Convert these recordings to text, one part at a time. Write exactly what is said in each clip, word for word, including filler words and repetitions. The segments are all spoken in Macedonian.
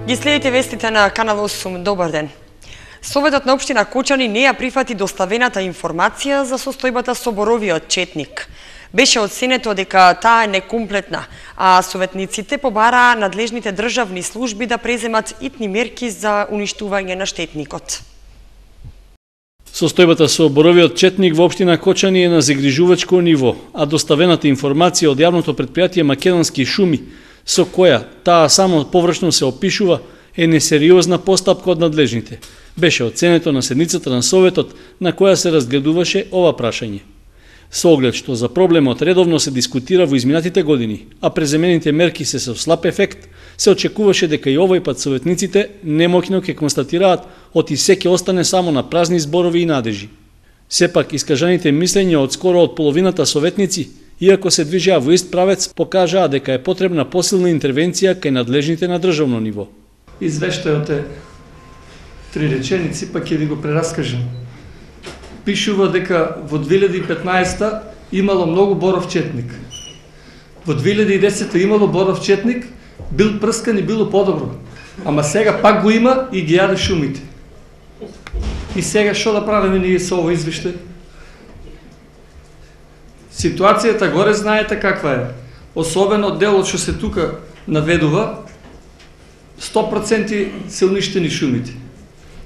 Ги следите вестите на Канал осум. Добар ден. Советот на општина Кочани не ја прифати доставената информација за состојбата со боровиот четник. Беше оценето дека таа е некомплетна, а советниците побараа надлежните државни служби да преземат итни мерки за уништување на штетникот. Состојбата со боровиот четник во општина Кочани е на загрижувачко ниво, а доставената информација од јавното претпријатие Македонски шуми, со која таа само површно се опишува, е несериозна постапка од надлежните. Беше оценето на седницата на Советот на која се разгледуваше ова прашање. Со оглед што за проблемот редовно се дискутира во изминатите години, а преземените мерки се со слаб ефект, се очекуваше дека и овој пат советниците немоќно ќе констатираат оти се ќе остане само на празни зборови и надежи. Сепак искажаните мислења од скоро од половината советници, иако се движеа во ист правец, покажаа дека е потребна посилна интервенција кај надлежните на државно ниво. Извештајот е три реченици, па ќе ви го прераскажам. Пишува дека во две илјади и петнаесета имало многу боров четник. Во две илјади и десета имало боров четник, бил прскан и било подобро. Ама сега пак го има и ги јаде шумите. И сега што да правиме ние со овој извештај? Ситуацијата горе знаете каква е. Особено делот што се тука наведува, сто проценти се уништени шумите.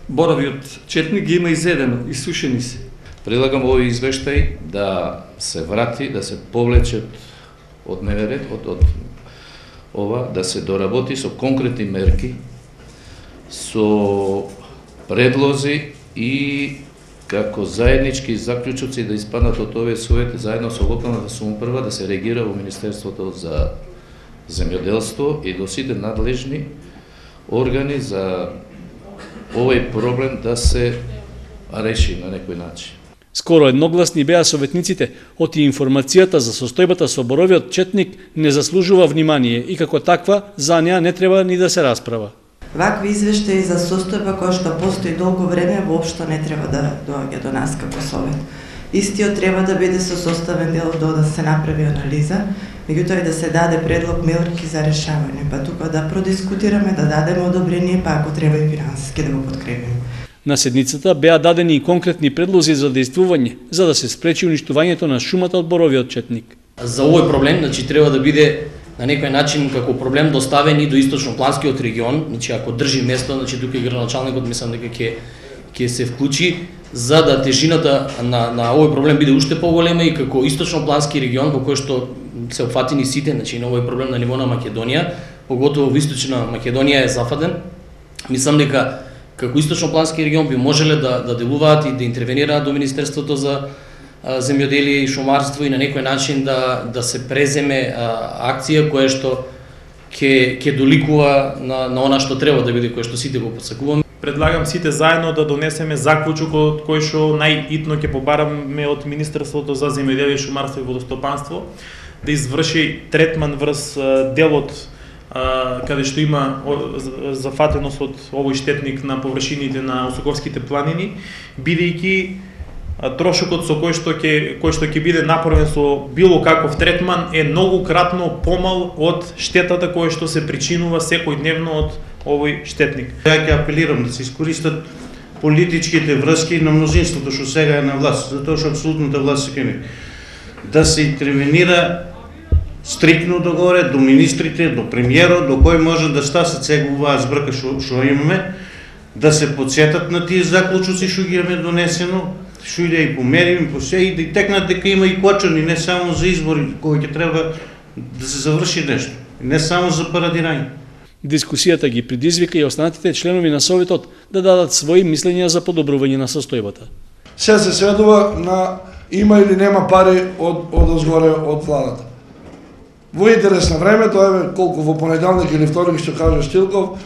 Боровиот четник ги има изедено, исушени се. Предлагам овој извештај да се врати, да се повлече од МВР, од, од ова, да се доработи со конкретни мерки, со предлози и како заеднички заклучоци да испаднат од овие совети заедно со локалната самоуправа да се реагира во Министерството за земјоделство и до сите надлежни органи за овој проблем да се реши на некој начин. Скоро едногласни беа советниците, оти информацијата за состојбата со боровиот четник не заслужува внимание и како таква за неа не треба ни да се расправа. Вакви извештаи за состојба која што постои долго време воопшто не треба да доаѓа до нас како совет. Истиот треба да биде со составен дел до да се направи анализа, меѓутоа и да се даде предлог мерки за решавање, па тука да продискутираме, да дадеме одобрение, па ако треба и финансиски да го подкрепиме. На седницата беа дадени и конкретни предлози за действување, за да се спречи уништувањето на шумата од боровиот четник. За овој проблем, значи треба да биде на некој начин како проблем доставен и до источнопланскиот регион, значи ако држи место, значи тука и градоначалникот мислам дека ќе ќе се вклучи за да тежината на на овој проблем биде уште поголема и како источноплански регион во кој што се опфатени сите, значи на овој проблем на ниво на Македонија, поготово во источна Македонија е зафаден. Мислам дека како источноплански регион би можеле да да делуваат и да интервенираат до Министерството за земјоделие и шумарство и на некој начин да да се преземе а, акција која што ќе ќе доликува на на она што треба да биде, кој што сите го посакуваме. Предлагам сите заедно да донесеме заклучок од кој што најитно ќе побараме од Министерството за земјоделие, шумарство и водостопанство да изврши третман врз делот а, каде што има зафатеност од овој штетник на површините на Осоковските планини, бидејќи трошокот со кој што ќе кој што ќе биде направен со било каков третман е многократно помал од штетата која што се причинува секојдневно од овој штетник. Ја ќе апелирам да се искористат политичките врски на мнозинството што сега е на власт, затоа што апсолутната власт се кеми. Да се интервенира стрикно догоре до министрите, до премиерот, до кој може да стасат сега оваа збрка што што имаме, да се подсетат на тие заклучоци што ги имаме донесено, што иде и померим, по се и да текнат дека има и Кочани, не само за избори, кој ќе треба да се заврши нешто, не само за парадирање. Дискусијата ги предизвика и останатите членови на Советот да дадат своји мислења за подобрување на состојбата. Се се сведува на има или нема пари од од озгоре од владата. Во интерес на времето, еве колку во понеделник или вторник што кажа Штилков,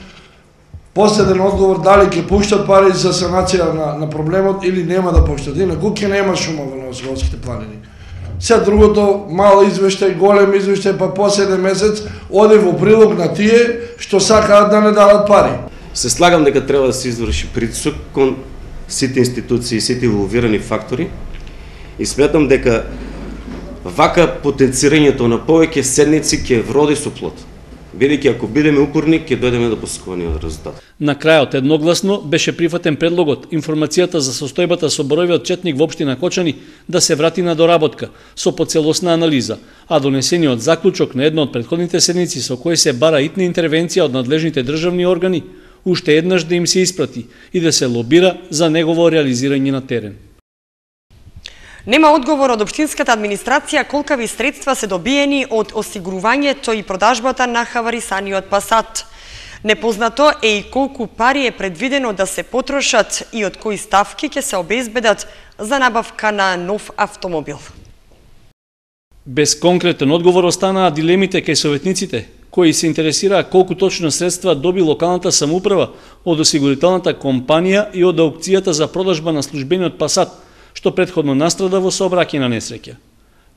последен одговор дали ќе пуштат пари за санација на на проблемот или нема да пуштат. Инаку ќе нема шума во Новосковските планини. Се другото мал извештај, голем извештај, па последен месец оди во прилог на тие што сакаат да не дадат пари. Се слагам дека треба да се изврши притисок кон сите институции, сите инволвирани фактори и сметам дека вака потенцирањето на повеќе седници ќе вроди со плод. Бидејќи ако бидеме упорни, ќе дојдеме до посакуваниот резултат. На крајот едногласно беше прифатен предлогот информацијата за состојбата со боровиот четник во општина Кочани да се врати на доработка со поцелосна анализа, а донесениот заклучок на една од претходните седници со кој се бара итна интервенција од надлежните државни органи уште еднаш да им се испрати и да се лобира за негово реализирање на терен. Нема одговор од општинската администрација колкави средства се добиени од осигурувањето и продажбата на хаварисаниот Пасат. Непознато е и колку пари е предвидено да се потрошат и од кои ставки ќе се обезбедат за набавка на нов автомобил. Без конкретен одговор останаа дилемите кај советниците, кои се интересираа колку точно средства доби локалната самоуправа од осигурителната компанија и од аукцијата за продажба на службениот Пасат, што предходно настрада во сообраќајна несреќа.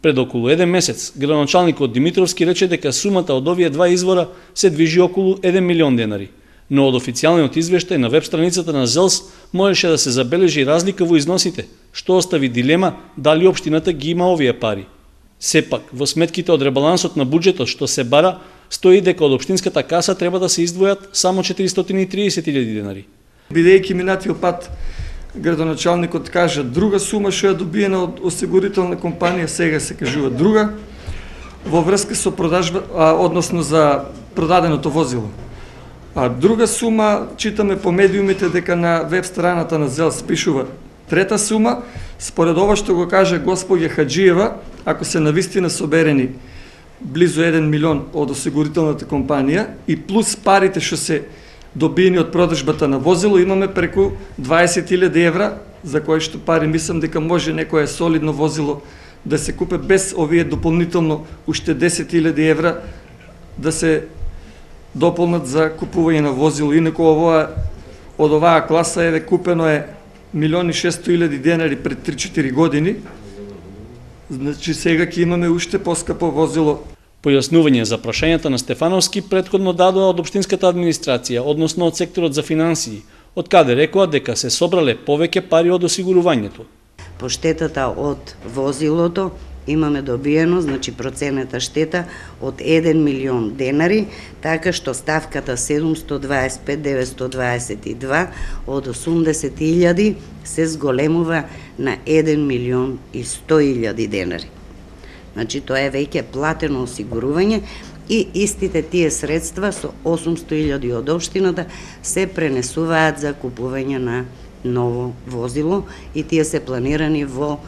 Пред околу еден месец, градоначалникот Димитровски рече дека сумата од овие два извора се движи околу еден милион денари, но од официјалниот извештај на веб страницата на ЗЕЛС можеше да се забележи разлика во износите, што остави дилема дали општината ги има овие пари. Сепак, во сметките од ребалансот на буџетот што се бара, стои дека од општинската каса треба да се издвојат само четиристотини и триесет илјади денари. Бидејќи минатиот пат градоначалникот кажа друга сума што е добиена од осигурителна компанија, сега се кажува друга, во врска со продажба, а, односно за продаденото возило. А друга сума, читаме по медиумите дека на веб страната на ЗЕЛС пишува трета сума, според ова што го каже господја Хаджиева, ако се навистина соберени близу еден милион од осигурителната компанија и плюс парите што се добиени од продажбата на возило, имаме преку дваесет илјади евра, за кои што пари мислам дека може некое солидно возило да се купе без овие дополнително уште десет илјади евра да се дополнат за купување на возило. Инаку ова од оваа класа еве купено е милион и шесто илјади денари пред три-четири години. Значи сега ќе имаме уште поскапо возило. Појаснување за прашањата на Стефановски предходно дадоа од општинската администрација, односно од секторот за финансии, од каде рекоа дека се собрале повеќе пари од осигурувањето. По штетата од возилото имаме добиено, значи проценета штета од еден милион денари, така што ставката седумстотини дваесет и пет деветстотини дваесет и два од осумдесет илјади се зголемува на еден милион и сто илјади денари. Значи тоа е веќе платено осигурување и истите тие средства со осумсто илјади од општината се пренесуваат за купување на ново возило и тие се планирани во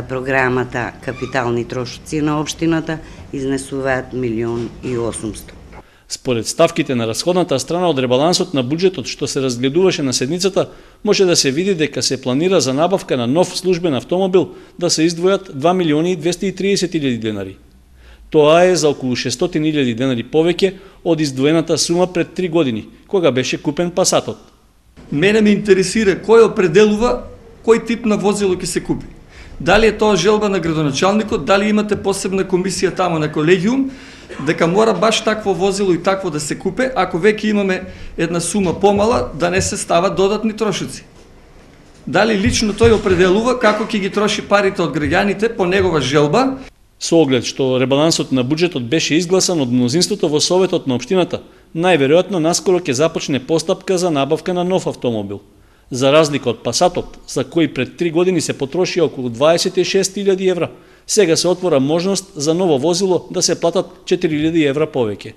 програмата капитални трошоци на општината, изнесуваат милион и осумсто. Според ставките на расходната страна од ребалансот на буџетот што се разгледуваше на седницата, може да се види дека се планира за набавка на нов службен автомобил да се издвојат два милиони и двесте и триесет илјади денари. Тоа е за околу шестстотини илјади денари повеќе од издвоената сума пред три години, кога беше купен Пасатот. Мене ме интересира кој определува кој тип на возило ќе се купи. Дали е тоа желба на градоначалникот, дали имате посебна комисија тамо на колегиум, дека мора баш такво возило и такво да се купе, ако веќе имаме една сума помала, да не се стават додатни трошоци. Дали лично тој определува како ќе ги троши парите од граѓаните по негова желба. Со оглед што ребалансот на буџетот беше изгласан од мнозинството во Советот на општината, најверојатно наскоро ќе започне постапка за набавка на нов автомобил. За разлика од Пасатот, за кој пред три години се потроши околу дваесет и шест илјади евра, сега се отвора можност за ново возило да се платат четири илјади евра повеќе.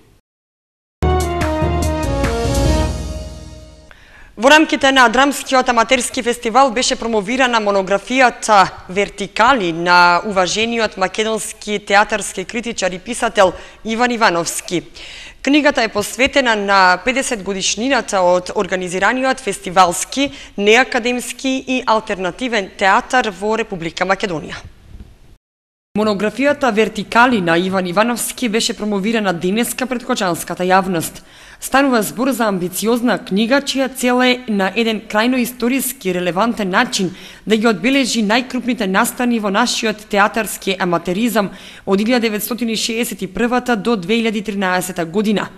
Во рамките на Драмскиот аматерски фестивал беше промовирана монографијата Вертикали на уважениот македонски театарски критичар и писател Иван Ивановски. Книгата е посветена на педесет годишнината од организираниот фестивалски, неакадемски и алтернативен театар во Република Македонија. Монографијата Вертикали на Иван Ивановски беше промовирана денеска пред кочанската јавност. Станува збор за амбициозна книга, чија цел е на еден крајно историски релевантен начин да ги одбележи најкрупните настани во нашиот театарски аматеризам од илјада деветстотини шеесет и прва до две илјади и тринаесета година.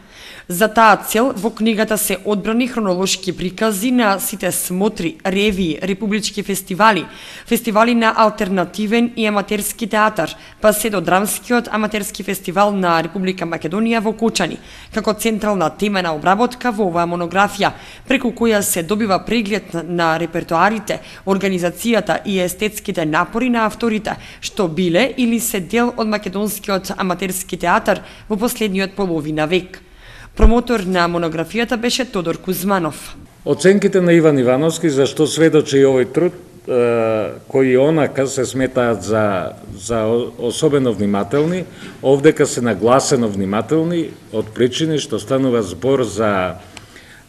За таа цел, во книгата се одбрани хронолошки прикази на сите смотри, ревии, републички фестивали, фестивали на алтернативен и аматерски театар, па се до драмскиот аматерски фестивал на Република Македонија во Кочани, како централна темена обработка во оваа монографија, преку која се добива преглед на репертоарите, организацијата и естетските напори на авторите, што биле или се дел од македонскиот аматерски театар во последниот половина век. Промотор на монографијата беше Тодор Кузманов. Оценките на Иван Ивановски, за што сведочи и овој труд, кои онака се сметаат за, за особено внимателни, овдека се нагласено внимателни, од причини што станува збор за,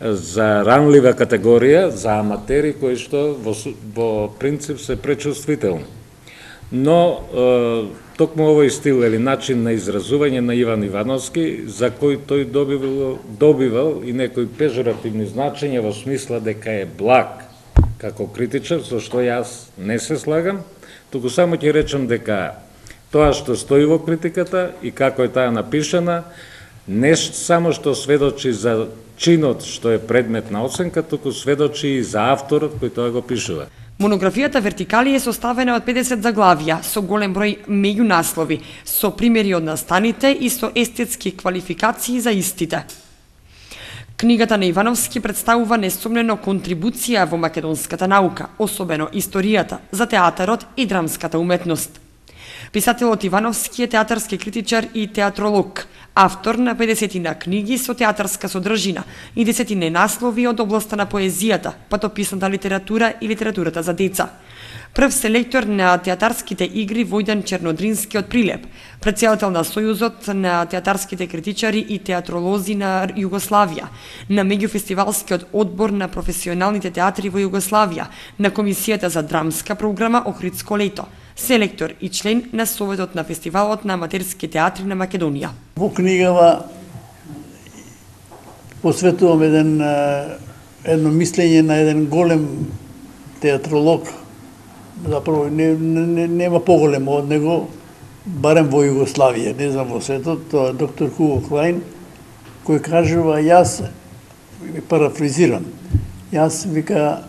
за ранлива категорија, за аматери кои што во, во принцип се пречувствителни. Но токму овој стил или начин на изразување на Иван Ивановски, за кој тој добивал, добивал и некои пежоративни значења во смисла дека е благ како критичар, со што јас не се слагам, туку само ќе речам дека тоа што стои во критиката и како е таа напишана, не само што сведочи за чинот што е предмет на оценка, туку сведочи и за авторот кој тоа го пишува. Монографијата Вертикали е составена од педесет заглавија, со голем број меѓунаслови, со примери од настаните и со естетски квалификации за истите. Книгата на Ивановски представува несомнено контрибуција во македонската наука, особено историјата, за театарот и драмската уметност. Писателот Ивановски е театарски критичар и театролог, автор на педесетина книги со театарска содржина и десетина наслови од областа на поезијата, патописната литература и литературата за деца. Прв селектор на театарските игри Војдан Чернодрински од Прилеп, претседател на Сојузот на театарските критичари и театролози на Југославија, на меѓуфестивалскиот одбор на професионалните театри во Југославија, на Комисијата за драмска програма Охридско лето, селектор и член на Советот на фестивалот на аматерски театри на Македонија. Во книгава посветувам еден едно мислење на еден голем театролог, заправо не, не, нема поголемо од него, барем во Југославија, не знам во светот, тоа е доктор Хуго Клајн, кој кажува, јас, парафризирам, јас вика,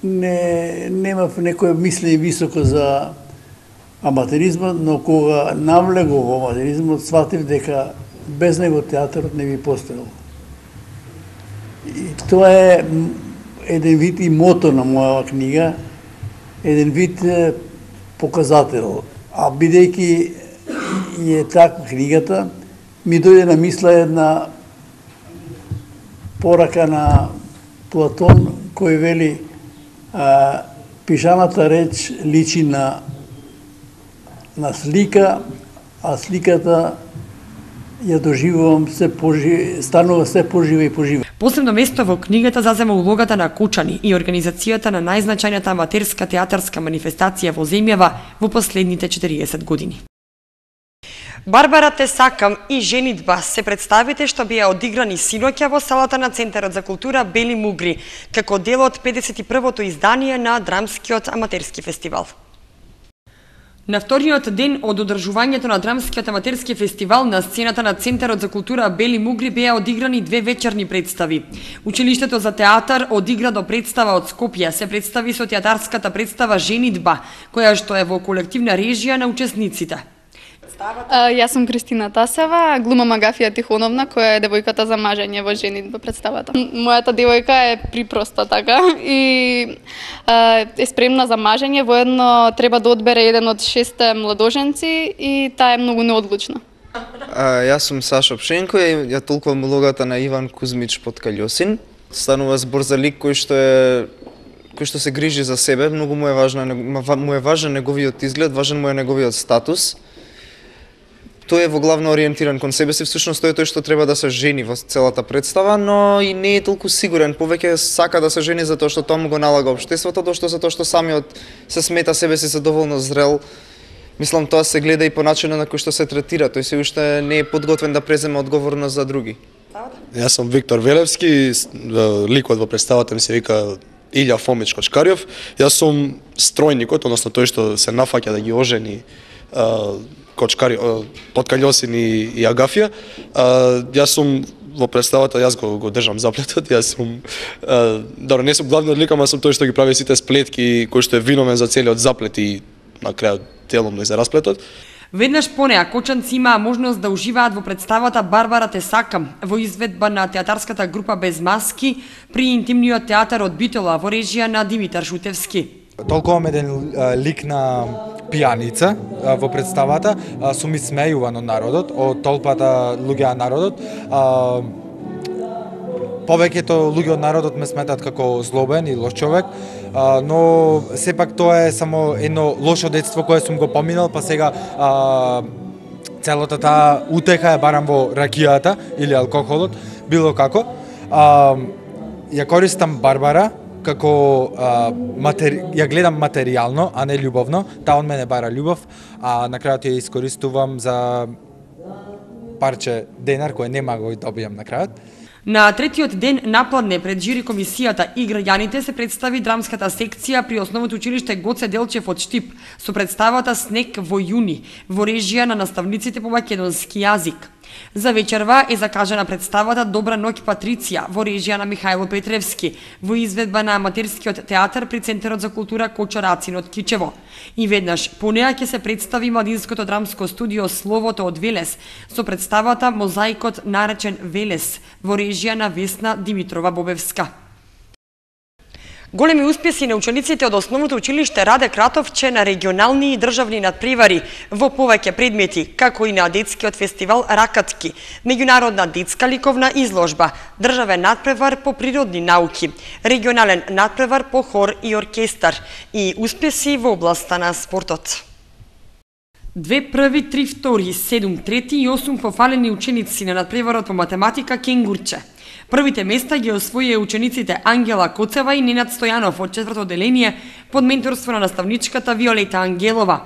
не, немав некој мислење високо за аматеризмот, но кога навлегов во аматеризмот, сватив дека без него театарот не би постоел. И тоа е еден вид и мото на мојава книга, еден вид показател. А бидејќи е така книгата, ми дојде на мисла една порака на Платон, кој вели а, пишаната реч личи на на слика, а сликата ја доживувам се пожи, станува се пожива и пожива. Посебно место во книгата зазема улогата на Кочани и организацијата на најзначајната аматерска театарска манифестација во земјава во последните четириесет години. Барбара те сакам и женитба се представите што беа одиграни синоќа во салата на Центарот за култура Бели Мугри, како дел од педесет и првото издание на Драмскиот аматерски фестивал. На вториот ден од одржувањето на Драмскиот аматерски фестивал на сцената на Центарот за култура Бели Мугри беа одиграни две вечерни представи. Училиштето за театар одигра до представа од Скопје, се представи со театарската представа Женитба, која што е во колективна режија на учесниците. Јас сум Кристина Тасева, глумам Агафија Тихоновна, која е девојката за мажење во Женитба представата. Мојата девојка е припроста така и е спремна за мажење, воедно треба да одбере еден од шесте младоженци и таа е многу неодлучна. А, јас сум Сашо Пшенко и ја толкувам улогата на Иван Кузмич Подкалјосин. Станува збор за лик кој што е кој што се грижи за себе, многу му е важна, му е важен неговиот изглед, важен му е неговиот статус. Тој е во главно ориентиран кон себе си, всушност тој е тој што треба да се жени во целата представа, но и не е толку сигурен, повеќе сака да се жени затоа што тоа му го налага општеството, тоа што затоа што самиот се смета себе си за доволно зрел. Мислам тоа се гледа и по начинот на кој што се третира, тој се уште не е подготвен да преземе одговорност за други. Јас сум Виктор Велевски, ликот во представата ми се вика Илја Фомич Кочкарјов. Јас сум стројникот, односно тој што се нафаќа да ги ожени кочкари, Поткаљосин и, и Агафија. А, јас сум во представата, јас го, го држам заплетот, јас сум, а, добро, не сум главниот лик, ама сум тој што ги прави сите сплетки, кој што е виновен за целиот заплет и на крајот деломно и за расплетот. Веднаш по неа, кочанци имаа можност да уживаат во представата Барбара те сакам, во изведба на театарската група Без маски, при интимниот театар од Битола, во режија на Димитар Шутевски. Толкова еден лик на пијаница во представата, сум исмејуван од народот, од толпата луѓе од народот. Повеќето луѓе од народот ме сметат како злобен и лош човек, но сепак тоа е само едно лошо детство кое сум го поминал, па сега а, целата таа утеха е барам во ракијата или алкохолот, било како. А, ја користам Барбара како а, матери... ја гледам материјално, а не љубовно. Таа од мене бара љубов, а на крајот ја искористувам за парче денар кој нема го добијам на крајот. На третиот ден напладне пред жири комисијата и граѓаните се представи драмската секција при основното училиште Гоце Делчев од Штип со представата Снег во јуни во режија на наставниците по македонски јазик. За вечерва е закажана представата Добра ноќ Патриција во режија на Михајло Петревски во изведба на аматерскиот театар при Центарот за култура Кочо Рацин од Кичево. И веднаш по неа ќе се представи младинското драмско студио Словото од Велес со представата Мозаикот наречен Велес во режија на Весна Димитрова Бобевска. Големи успеси на учениците од основното училиште Раде Кратовче на регионални и државни надпревари во повеќе предмети, како и на детскиот фестивал Ракатки, меѓународна детска ликовна изложба, државен надпревар по природни науки, регионален надпревар по хор и оркестар и успеси во областа на спортот. Две први, три втори, седум трети и осум пофалени ученици на надпреварот по математика Кенгурче. Првите места ги освоија учениците Ангела Коцева и Ненад Стојанов од четврто одделение под менторство на наставничката Виолета Ангелова.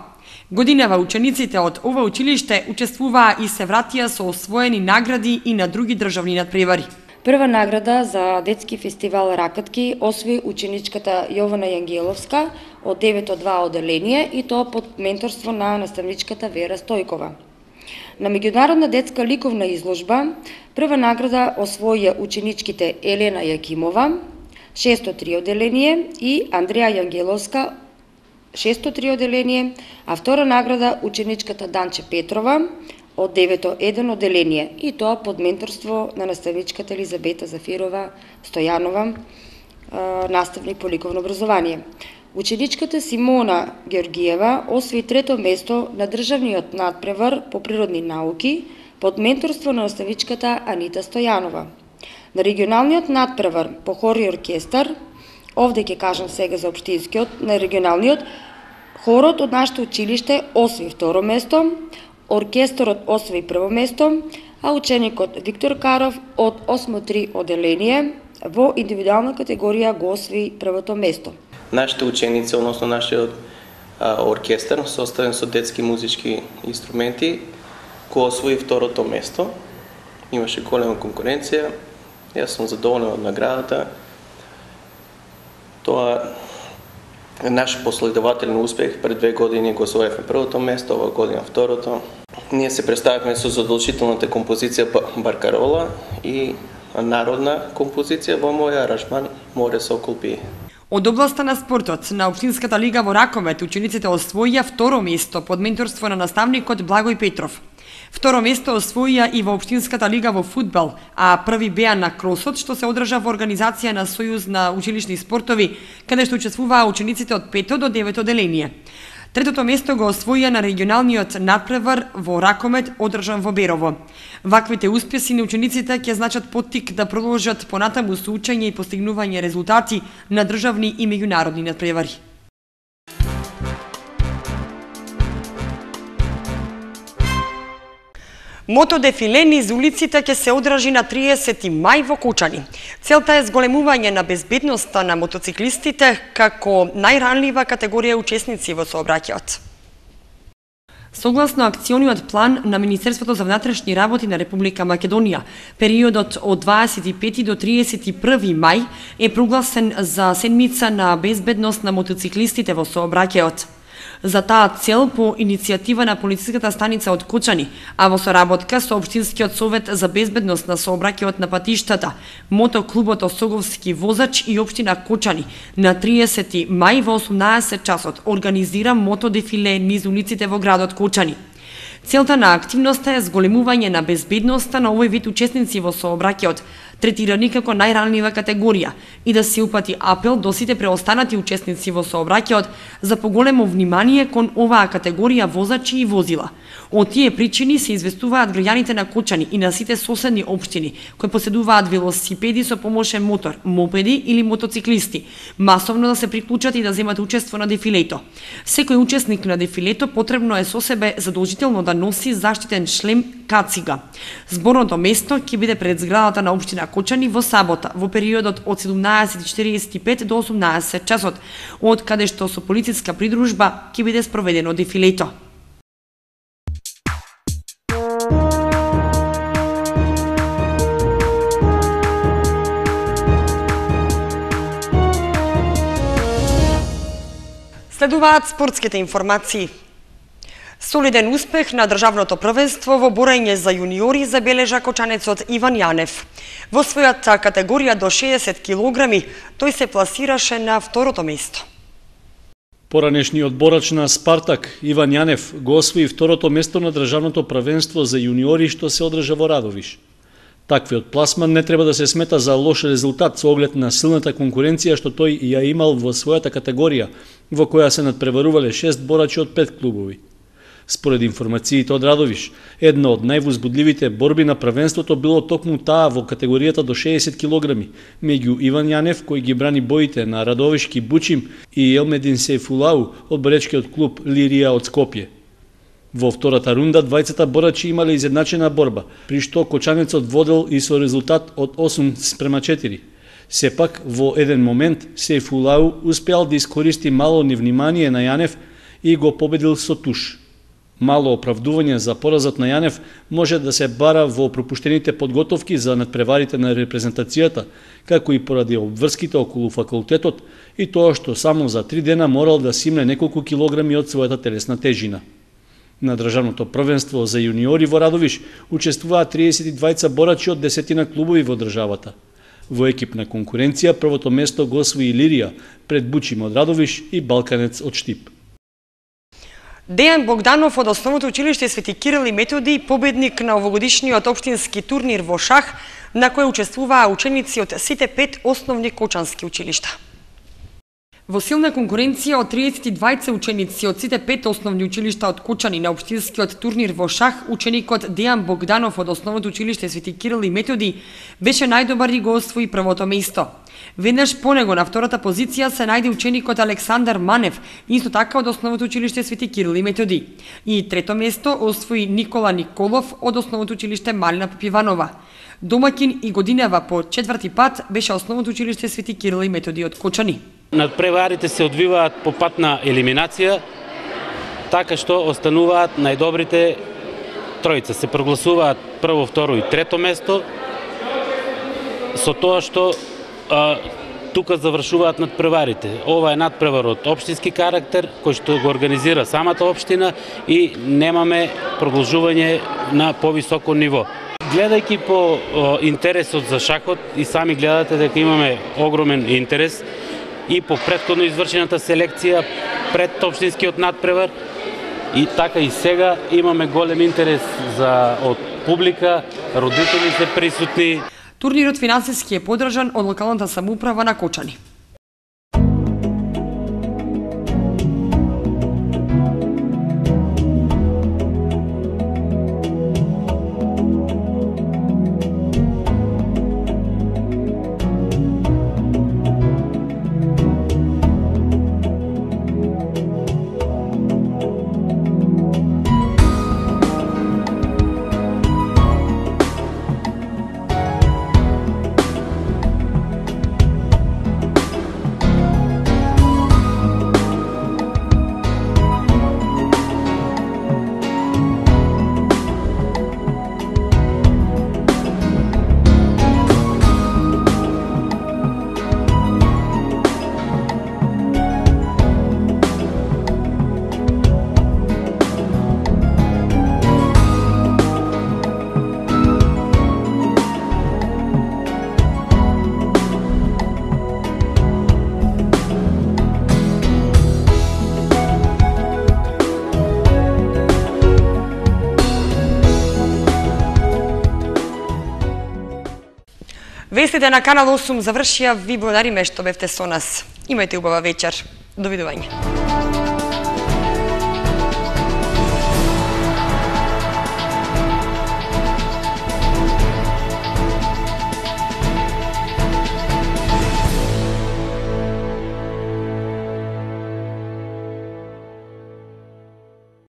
Годинава учениците од ова училиште учествуваа и се вратија со освоени награди и на други државни надпревари. Прва награда за детски фестивал Ракатки освои ученичката Јована Јангеловска од девето два одделение и тоа под менторство на наставничката Вера Стојкова. На меѓународна детска ликовна изложба прва награда освоија ученичките Елена Јакимова, шесто три одделение и Андреја Јангеловска, шесто три одделение, а втора награда ученичката Данче Петрова од девето еден одделение и тоа под менторство на наставничката Елизабета Зафирова Стојанова, наставник по ликовно образование. Ученичката Симона Георгиева освои трето место на државниот надпревар по природни науки под менторство на наставничката Анита Стојанова. На регионалниот надпревар по хор и оркестар, овде ќе кажам сега за општинскиот, на регионалниот, хорот од нашето училиште освои второ место, оркестарот освои прво место, а ученикот Виктор Каров од осмо три одделение во индивидуална категорија го освои првото место. Нашите ученици, односно нашиот а, оркестар, составен со детски музички инструменти, го освои второто место. Имаше голема конкуренција. Јас сум задоволен од наградата. Тоа е наш последователен успех. Пред две години го освоивме првото место, ова година второто. Ние се представивме со задолжителната композиција Баркарола и народна композиција во моја аранжман Море Сокол пие. Од областа на спортот, на Општинската лига во Раковет, учениците освоија второ место под менторство на наставникот Благој Петров. Второ место освоија и во Општинската лига во фудбал, а први беа на кросот, што се одржа во организација на Сојуз на училишни спортови, каде што учествуваа учениците од пето до девето одделение. Третото место го освоија на регионалниот надпревар во Ракомет, одржан во Берово. Ваквите успеси на учениците ќе значат поттик да продолжат понатаму со учење и постигнување резултати на државни и меѓународни надпревари. Мотодефиле низ улиците ќе се одржи на триесети мај во Кучани. Целта е зголемување на безбедноста на мотоциклистите како најранлива категорија учесници во сообраќајот. Согласно акциониот план на Министерството за внатрешни работи на Република Македонија, периодот од дваесет и пети до триесет и први мај е прогласен за седмица на безбедност на мотоциклистите во сообраќајот. За таа цел по иницијатива на полициската станица од Кочани, а во соработка со Општинскиот совет за безбедност на сообраќајот на патиштата, мотоклубот Осоговски возач и Општина Кочани на триесети мај во осумнаесет часот организира мотодефиле низ улиците во градот Кочани. Целта на активноста е зголемување на безбедноста на овој вид учесници во сообраќајот, третирани како најранлива категорија, и да се упати апел до сите преостанати учесници во сообраќајот за поголемо внимание кон оваа категорија возачи и возила. Од тие причини се известуваат граѓаните на Кочани и на сите соседни општини кои поседуваат велосипеди со помошен мотор, мопеди или мотоциклисти, масовно да се приклучат и да земат учество на дефилето. Секој учесник на дефилето потребно е со себе задолжително да носи заштитен шлем кацига. Зборното место ќе биде пред зградата на општина Кочани во сабота, во периодот од седумнаесет и четириесет и пет до осумнаесет часот, од каде што со полициска придружба ќе биде спроведено дефилето. Следуваат спортските информации. Солиден успех на државното првенство во борење за јуниори забележа кочанецот Иван Јанев. Во својата категорија до шеесет килограми тој се пласираше на второто место. Поранешниот борач на Спартак Иван Јанев го освои второто место на државното првенство за јуниори што се одржа во Радовиш. Таквиот пласман не треба да се смета за лош резултат со оглед на силната конкуренција што тој ја имал во својата категорија, во која се надпреварувале шест борачи од пет клубови. Според информациите од Радовиш, една од највозбудливите борби на првенството било токму таа во категоријата до шеесет килограми, меѓу Иван Јанев кој ги брани боите на Радовишки Бучим и Елмедин Сейфулау од боречкиот клуб Лирија од Скопје. Во втората рунда двајцата борачи имале изедначена борба, при што кочанецот водел и со резултат од осум спрема четири. Сепак, во еден момент, Сейфулау успеал да искористи мало невнимание на Јанев и го победил со туш. Мало оправдување за поразот на Јанев може да се бара во пропуштените подготовки за надпреварите на репрезентацијата, како и поради обврските околу факултетот и тоа што само за три дена морал да симне неколку килограми од својата телесна тежина. На државното првенство за јуниори во Радовиш учествуваат триесет и двајца борачи од десетина клубови во државата. Во екипна конкуренција првото место го освои Лирија пред Бучим од Радовиш и Балканец од Штип. Дејан Богданов од Основното училиште Свети Кирил и Методи, победник на овогодишниот општински турнир во шах, на кој учествуваа ученици од сите пет основни кочански училишта. Во силна конкуренција од триесет и двајца ученици од сите пет основни училишта од Кочани на општинскиот турнир во шах, ученикот Дејан Богданов од Основното училиште Свети Кирил и Методи беше најдобар и го освои првото место. Веднаш по него на втората позиција се најде ученикот Александар Манев, исто така од Основното училиште Свети Кирил и Методи. И трето место освои Никола Николов од Основното училиште Малина Попиванова. Домаќин и годинава по четврти пат беше Основното училиште Свети Кирил и Методи од Кочани. Надпреварите се одвиваат по пат на елиминација, така што остануваат најдобрите тројца. Се прогласуваат прво, второ и трето место, со тоа што а, тука завршуваат надпреварите. Ова е надпревар од општински карактер, кој што го организира самата општина и немаме продолжување на повисоко ниво. Гледајќи по о, интересот за шахот, и сами гледате дека имаме огромен интерес, и по претходно извршената селекција пред општинскиот надпревар, и така и сега имаме голем интерес за од публика, родители се присутни. Турнирот финансиски е поддржан од локалната самоуправа на Кочани. Вестите на Канал осум завршија. Ви благодариме што бевте со нас. Имајте убава вечер. Довидување.